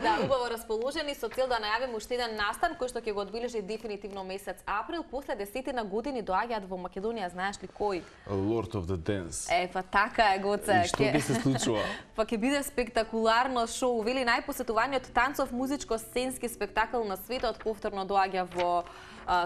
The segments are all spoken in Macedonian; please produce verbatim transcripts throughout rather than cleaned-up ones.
Да, убаво расположени со цел да најавиме уште еден настан кој што ќе го одбележи дефинитивно месец април. После десетина години доаѓаат во Македонија, знаеш ли кој? Lord of the Dance. Е, па така е, Гоце. И што ќе се случува? Па ќе биде спектакуларно шоу, вели најпосетуваниот танцов музичко-сценски спектакл на светот, повторно доаѓа во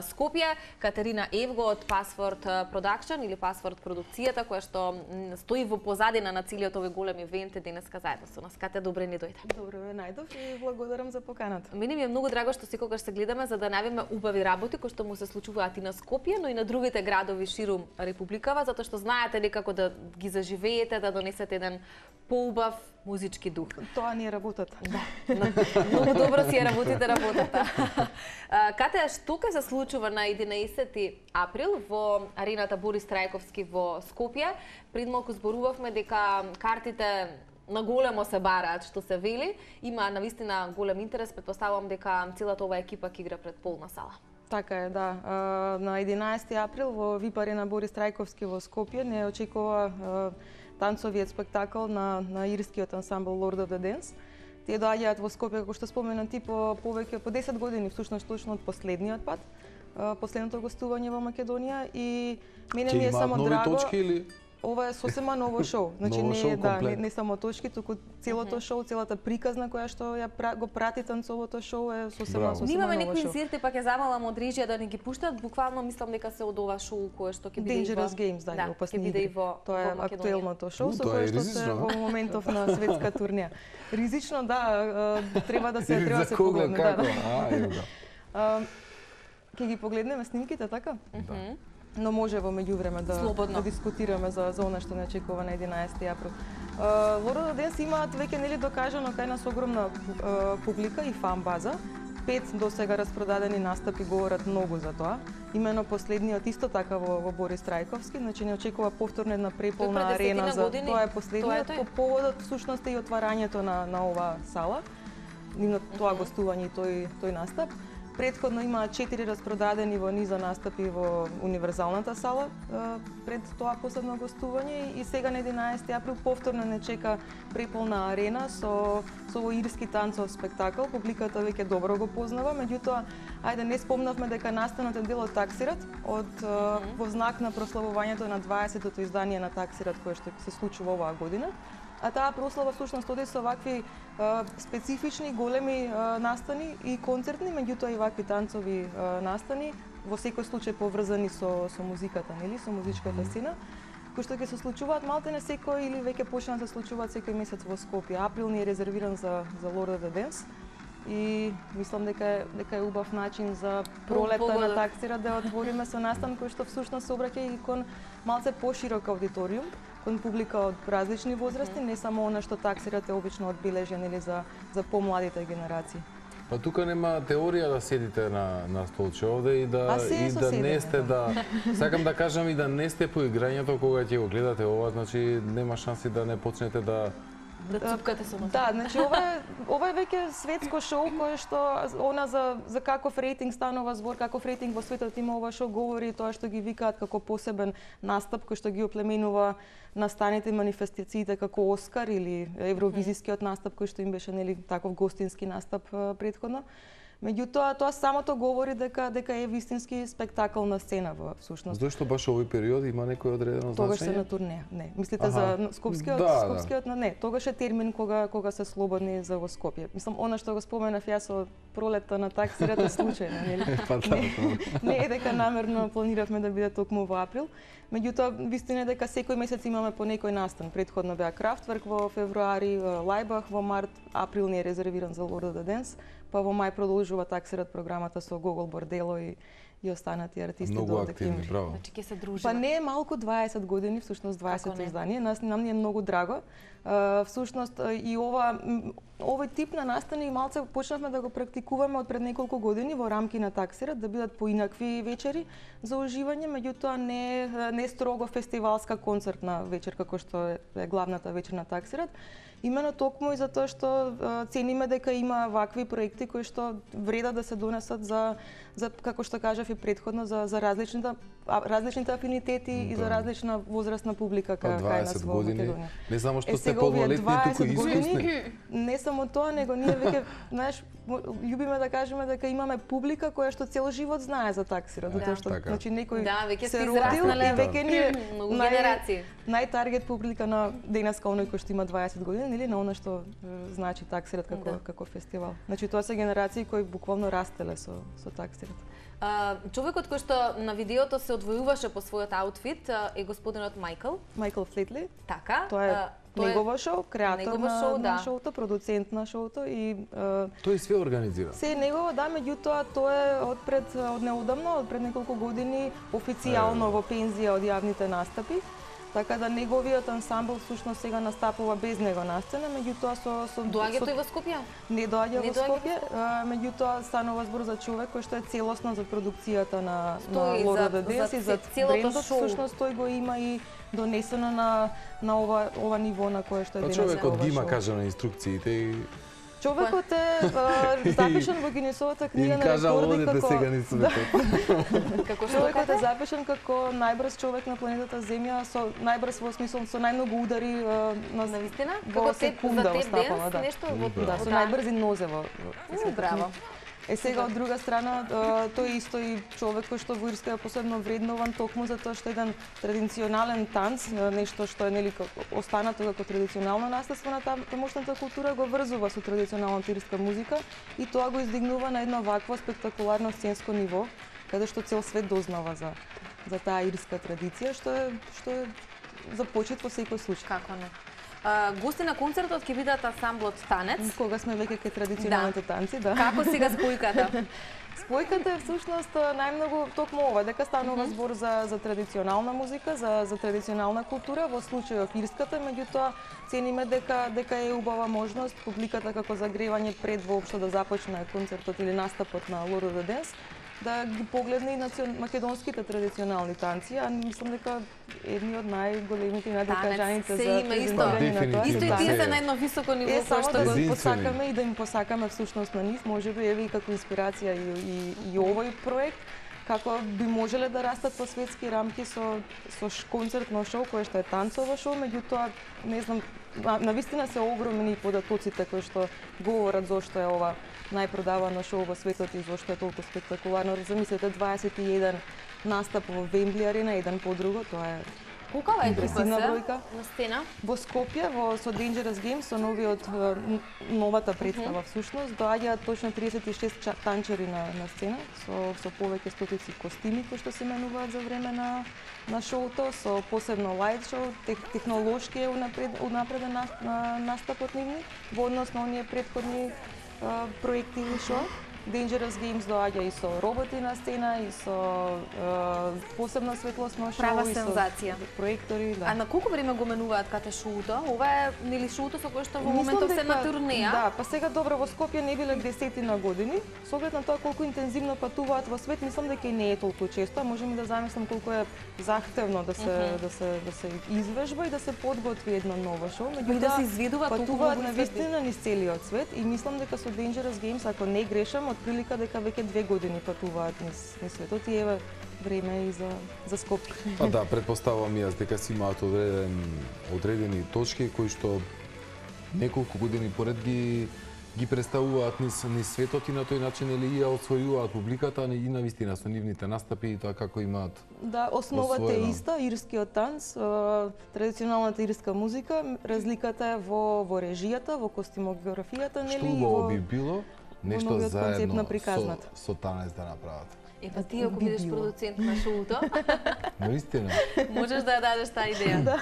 Скопје. Катерина Евго од Password Production или Password продукцијата, која што стои во позадина на целиот овој голем ивент, денеска заедно со нас. Кате, добре ни дојде. Добро ме најдов и благодарам за поканата. Мене ми е многу драго што секогаш се гледаме за да најавиме убави работи кои што му се случуваат и на Скопје, но и на другите градови ширум републикава, затоа што знаете ли како да ги заживеете, да донесете еден поубав музички дух. Тоа ни е работата. Да. Многу добро си ја работите работата. Кате, што ќе се случува на единаесети април во арената Борис Трајковски во Скопје? Пред малку зборувавме дека картите на големо се бараат, што се вели. Има навистина голем интерес, претпоставувам дека целата оваа екипа ќе игра пред полна сала. Така е, да. На единаесети април во ВИП арена Борис Трајковски во Скопје не очекува танцовиот спектакл на, на ирскиот ансамбл Lord of the Dance. Тие доаѓаат во Скопје, како што спомена ти, по повеќе по десет години, всушност точно од последниот пат, последното гостување во Македонија, и мене ми е само драго. Нови точки или? Ова е сосема ново шоу. Значи ново не шоу, е да, не, комплет. не само точки, туку целото шоу, целата приказна која што ја пра, го прати танцовото шоу е сосема сосема Нимаме ново некои шоу. инциденти, па ќе замалам од режија да не ги пуштат. Буквално мислам дека се од ова шоу кое што ќе биде Dangerous и во... Games, да, да, опасни ќе биде и игри. во Тоа е во Македонија. актуелното шоу У, со тоа е кое што се ризично. во моментов на светска турнеја. Ризично, да, треба да се треба да За се кого, погледне, како? да. А, ево го. А, Ќе ги погледнеме снимките, така? Мгм. Но може во меѓувреме да, Слободно. да дискутираме за, за она што не очекува на единаесети април. Uh, Lord of the Dance имаат веќе нели докажано кај нас огромна uh, публика и фан база. Пет до сега распродадени настапи говорат многу за тоа. Имено последниот исто така во, во Борис Трајковски, значи не очекува повторно една преполна Тој пред арена десетина за години, тоа е последниот тоа е тој. по поводот всушност и отварањето на на оваа сала. Нивно тоа гостување и тој тој настап. Предходно имаа четири распродадени во низа настапи во универзалната сала пред тоа последно гостување, и сега на единаесети април повторно не чека преполна арена со со овој ирски танцов спектакл. Публиката веќе добро го познава, меѓутоа ајде не спомнавме дека настанот е дел од Таксират, од mm -hmm. во знак на прославувањето на дваесетото издание на Таксират кое што се случува оваа година. А таа прослава всушност оди со вакви а, специфични големи а, настани и концертни, меѓутоа и вакви танцови а, настани, во секој случај поврзани со со музиката, нели, со музичката сцена, кои што ќе се случуваат малтене секој или веќе почнаа да се случуваат секој месец во Скопје. Април ни е резервиран за за Lord of the Dance и мислам дека е, дека е убав начин за пролетта на Таксира да отвориме со настан кој што всушност се обраќа и кон малце поширок аудиториум, кон публика од различни возрасти, не само она што Таксират е обично одбележен или за за помладите генерации. Па тука нема теорија да седите на на столче овде и да и да не сте да сакам да кажам и да не сте по играњето кога ќе го гледате ова, значи нема шанси да не почнете да да цупкате со нас. Да, значи ова е ова е веќе светско шоу кое што она за за каков рейтинг станува збор, каков рейтинг во светот има ова шоу, говори тоа што ги викаат како посебен настап кој што ги оплеменува настаните манифестациите како Оскар или евровизискиот настап кој што им беше нели таков гостински настап претходно. Меѓутоа тоа самото говори дека дека е вистински спектакл на сцена во всушност. Зошто баш овој период има некој одредено значење? Тогаш се на турнеја. Не, мислите за скопскиот, да, скопскиот, да. Не, тогаш е термин кога кога се слободни за во Скопје. Мислам она што го споменав јас со пролетта на Таксират е случајно, нели? Па да, не, не е дека намерно планиравме да биде токму во април. Меѓутоа вистина е дека секој месец имаме по некој настан. Претходно беа Крафтверк во февруари, Лајбах во март, април ни е резервиран за Lord of the Dance, па во мај продолжува Таксират програмата со Гогол Бордело и и останати артисти многу до активни, декември. браво. Значи ќе се дружиме. Па не е малку дваесет години, всушност дваесето издание. Нас нам ни е многу драго. Uh, всушност и ова овој тип на настани малце почнавме да го практикуваме од пред неколку години во рамки на Таксират, да бидат поинакви вечери за уживање, меѓутоа не не строго фестивалска концертна вечер како што е, е главната вечер на Таксират. Имено токму и затоа што uh, цениме дека има вакви проекти кои што вреда да се донесат за за како што кажав и претходно за за различната различните афинитети и за различна возрастна публика кај нас во Македонија. Не само што сте подмалетни, туку и искусни. Не само тоа, него ние веќе, знаеш, љубиме да кажеме дека имаме публика која што цел живот знае за таксирот, затоа што значи некој се родил и веќе ни е многу генерации. Најтаргет публика на денеска оној кој што има дваесет години или на она што значи таксирот како како фестивал. Значи тоа се генерации кои буквално растеле со со таксирот. Uh, човекот кој што на видеото се одвојуваше по својот аутфит uh, е господинот Майкл. Майкл Флетли. Така. Тоа е uh, негово шоу, креатор на, шоу, да. на шоуто, продуцент на шоуто и uh, тој све организира. Се е негово, да, меѓутоа тоа е одпред од неодамно, од пред неколку години официјално во пензија од јавните настапи. Така да неговиот ансамбл всушност сега настапува без него на сцена, меѓутоа со со доаѓа тој во Скопје? Не доаѓа во Скопје, меѓутоа станува збор за човек кој што е целосно за продукцијата на на Лора да Денс и за брендот, всушност тој го има и донесено на на ова ова ниво на кое што е денес. Човекот ги има кажано инструкциите и човекот е запишан во Гинесовата книга на рекорди како сега ни светот. Како човекот е запишан како најбрз човек на планетата Земја, со најбрз во смисол со најмногу удари на навистина во секунда во стапала, да. Нешто во да, со најбрзи нозе во. Браво. Е сега од друга страна, тој исто и човек кој што во Ирска е посебно вреднован токму за тоа што еден традиционален танц, нешто што е нели останато како традиционално наследство на тамошната култура, го врзува со традиционалната ирска музика и тоа го издигнува на едно вакво спектакуларно сценско ниво, каде што цел свет дознава за за таа ирска традиција, што е што е за почит во секој случај. Како не? Uh, гости на концертот ќе бидат ансамблот Танец. Кога сме веќе кај традиционалните да. танци, да. Како сега спојката? Спојката е всушност најмногу токму ова, дека станува збор за за традиционална музика, за за традиционална култура, во случајот ирската, меѓутоа цениме дека дека е убава можност публиката како загревање пред воопшто да започне концертот или настапот на Лора да Денс, да ги погледне и национ... македонските традиционални танци, а мислам дека едни од најголемите и најдокажаните за презентирање на тоа. Исто и тие се на едно високо ниво, кој што го посакаме и да им посакаме всушност на нив, можеби еве и како инспирација и, и, и овој проект, како би можеле да растат во светски рамки со со концертно шоу кое што е танцово шоу, меѓутоа не знам, навистина се огромни податоците кои што говорат зошто е ова најпродавано шоу во светот и зошто е толку спектакуларно. Замислете дваесет и еден настап во Вембли арена, еден по друго, тоа е Кукава импресивна бројка. На сцена? Во Скопје, во со Dangerous Games, со новиот новата представа всушност, доаѓаат точно триесет и шест танчери на на сцена со со повеќе стотици костими кои што се менуваат за време на на шоуто, со посебно лајт шоу, тех, технолошки е унапред, унапреден на, на, настапот нивни во однос на оние претходни Uh, проекти или шо. Dangerous Games доаѓа и со роботи на сцена, и со uh, посебно светлосно шоу, права и сензација. Со проектори, да. А на колку време го менуваат кате шоуто? Ова е нели шоуто со кое што во моментов се на турнеја? Да, па сега добро во Скопје не биле десетина години. Со оглед на тоа колку интензивно патуваат во свет, мислам дека и не е толку често, а можеме да замислам колку е захтевно да се uh -huh. да се да се извежба и да се подготви едно ново шоу, меѓутоа да се изведуваат патуваат навистина низ целиот свет и мислам дека со Dangerous Games, ако не грешам, од прилика дека веќе две години патуваат низ, низ светот и еве време и за за Скопје. Па да, предпоставувам јас дека си имаат одреден одредени точки кои што неколку години поред ги ги представуваат низ, низ светот и на тој начин или ја освојуваат публиката и на вистина со нивните настапи и тоа како имаат. Да, основата е иста, ирскиот танц, традиционалната ирска музика, разликата е во во режијата, во костимографијата, нели? Што убаво би било нешто заедно со, со танец да направат. Е, па ти ако бидеш продуцент на шоуто, наистина. можеш да ја дадеш таа идеја. Да.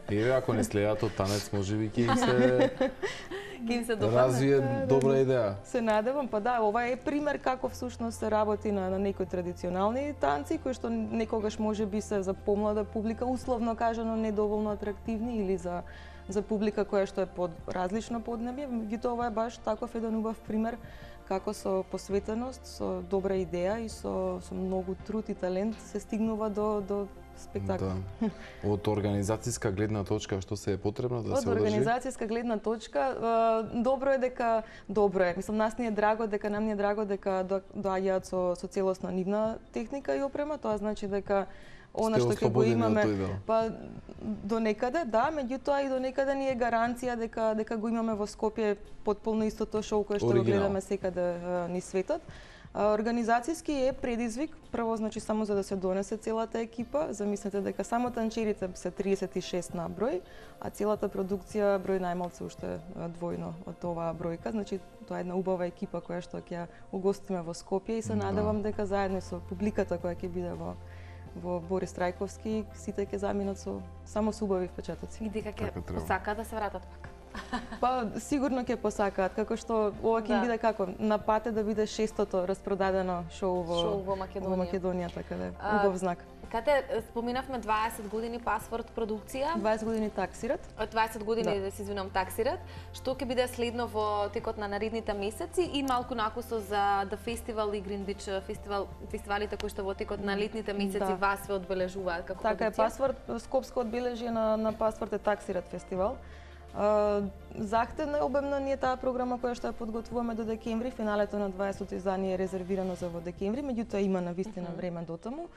Еве, ако не следат од танец, можеби ќе им се ќе им се допадне. Развие добра идеја. Се надевам, па да, ова е пример како всушност се работи на, на некои традиционални танци кои што некогаш можеби се за помлада публика, условно кажано недоволно атрактивни или за за публика која што е под различно поднебје, меѓутоа ова е баш таков еден убав пример како со посветеност, со добра идеја и со со многу труд и талент се стигнува до до спектакл. Да. Од организацијска гледна точка, што се е потребно да се одржи? Од организацијска гледна точка, добро е дека, добро е. Мислам, нас ни е драго дека, нам ни е драго дека доаѓаат со, со целосна нивна техника и опрема, тоа значи дека она што ќе го имаме, па до некаде, да, меѓутоа и до некаде ни е гаранција дека дека го имаме во Скопје потполно истото шоу кое што го гледаме секаде низ светот. Организацијски е предизвик, прво значи само за да се донесе целата екипа, замислете дека само танчерите се триесет и шест на број, а целата продукција број најмалку уште двојно од оваа бројка, значи тоа е една убава екипа која што ќе угостиме во Скопје и се надевам дека заедно со публиката која ќе биде во во Борис Трајковски, сите ќе заминат со само со убави впечатоци. И дека ќе посакаат да се вратат пак. Па сигурно ќе посакаат, како што ова ќе да. биде како на пат да биде шестото распродадено шоу во, шоу во Македонија. Во Македонија, така да, убав знак. Кате споминавме дваесет години Пасворд продукција. дваесет години таксират. дваесет години, да се извинувам, таксират. Што ќе биде следно во текот на наредните месеци и малку накусо за The Festival и Green Beach фестивал, фестивалите кои што во текот на летните месеци да. вас се одбележуваат како така продукција? Така е, Пасворд, скопско одбележие на, на Пасворд е таксират фестивал. Uh, захтевна и обемна ни е таа програма која што ја подготвуваме до декември. Финалето на дваесетото издание е резервирано за во декември, меѓутоа има навистина mm -hmm. време до таму.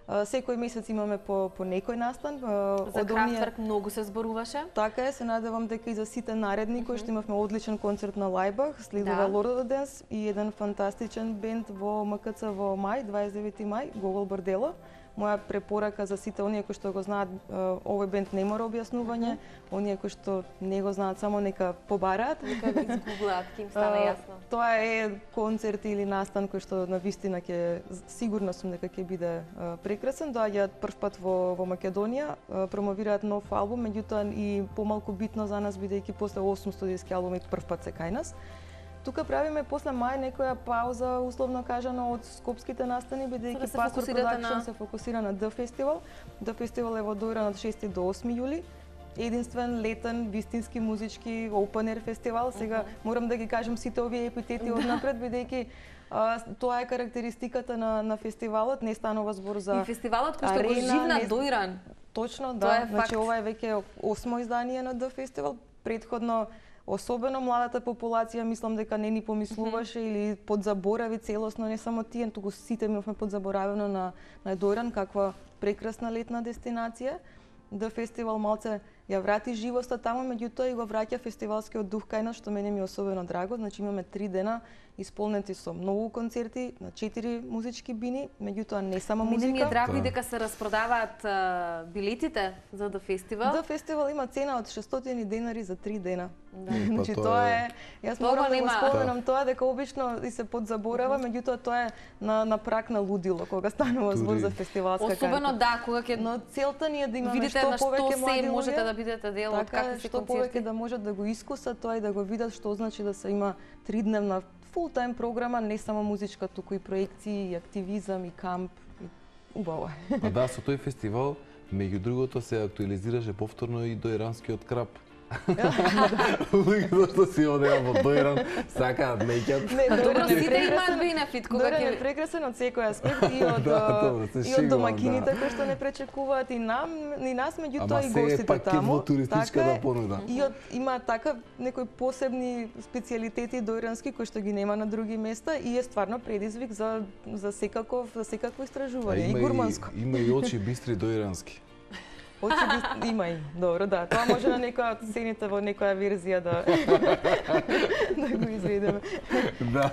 Uh, секој месец имаме по, по некој настан. Uh, за Крафтверк многу се зборуваше. Така е, се надевам дека и за сите наредни, mm -hmm. кои што имавме одличен концерт на Лајбах, следува да. Lord of the Dance и еден фантастичен бенд во М К Ц во мај, дваесет и девети мај, Гогол Бордело. Моја препорака за сите оние кои што го знаат, овој бенд не мора објаснување, mm -hmm. оние кои што не го знаат само нека побараат. Нека го изгуглаат, ќе им стане јасно. Тоа е концерт или настан кој што навистина ќе сигурно сум дека ќе биде прекрасен. Доаѓаат првпат во во Македонија, промовираат нов албум, меѓутоа и помалку битно за нас бидејќи после осум студиски албуми првпат се кај нас. Тука правиме после мај некоја пауза, условно кажано, од скопските настани, бидејќи да Пасворд Продакшн на... се фокусира на The Festival. The Festival е во Дојран од шести до осми јули. Единствен, летен, вистински музички open air фестивал. Сега uh-huh. морам да ги кажам сите овие епитети однапред, бидејќи а, тоа е карактеристиката на, на фестивалот. Не станува збор за и фестивалот кој што го живна не... Дојран. Точно, да. Тоа е значи ова е веќе осмо издание на The Festival. Предходно особено младата популација, мислам дека не ни помислуваше mm-hmm. или подзаборави целосно, не само тие, туку сите имавме подзаборавено на, на Дојран, каква прекрасна летна дестинација. The Festival малце ја врати живоста таму, меѓутоа и го враќа фестивалскиот дух кај нас, што мене ми е особено драго. Значи имаме три дена исполнети со многу концерти на четири музички бини, меѓутоа не само музика. Мене ми е драго и дека се распродаваат uh, билетите за The Festival. The Festival има цена од шестстотини денари за три дена. Да. Значи па тоа е, јас морам да го споменам тоа дека обично и се подзаборава, меѓутоа тоа е на на прак на лудило кога станува збор за фестивалска карта. Особено да, кога ќе но целта ни е да имаме видите што на што повеќе се млади можете луѓе, да бидете дел од какви се што повеќе да можат да го искусат тоа и да го видат што значи да се има тридневна фул тајм програма, не само музичка, туку и проекции, и активизам, и камп, и убаво е. А да, со тој фестивал, меѓу другото, се актуализираше повторно и дојранскиот крап. Луѓето што си одеа во Дојран сакаат меќат. Добро, сите имаат бенефит кога ќе... Дојран е прекрасен од секој аспект и од и од домакините кои што не пречекуваат и нам и нас, меѓутоа и гостите таму. Така понуда. И од има така некои посебни специјалитети дојрански кои што ги нема на други места и е стварно предизвик за за секаков за секакво истражување и гурманско. Има и очи бистри дојрански. Очи би има и. Добро, да. Тоа може на некоја од сцените во некоја верзија да да го изведеме. Да.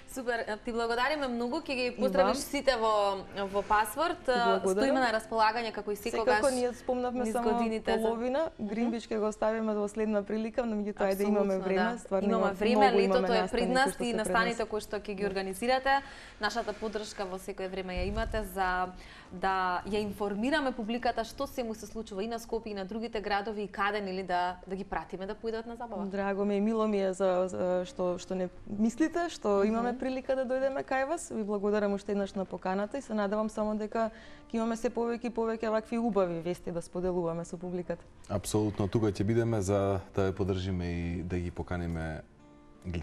Супер, ти благодариме многу, ќе ги поздравиш сите во во Пасворд. Стоиме на располагање како и секогаш. Секако ние спомнавме само половина, Green Beach ќе го оставиме до следна прилика, но меѓутоа да имаме време, стварно имаме време, летото е пред нас и настаните кои што ќе ги организирате. Нашата поддршка во секое време ја имате за да ја информираме публиката што се му се случува и на Скопје и на другите градови и каде нели да да ги пратиме да поидат на забава. Драго ми е, мило ми е за, за што што не мислите, што имаме прилика да дојдеме кај вас. Ви благодарам уште еднаш на поканата и се надевам само дека ќе имаме се повеќе и повеќе вакви убави вести да споделуваме со публиката. Апсолутно, тука ќе бидеме за да ја поддржиме и да ги поканиме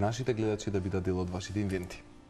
нашите гледачи да бидат дел од вашите инвенти.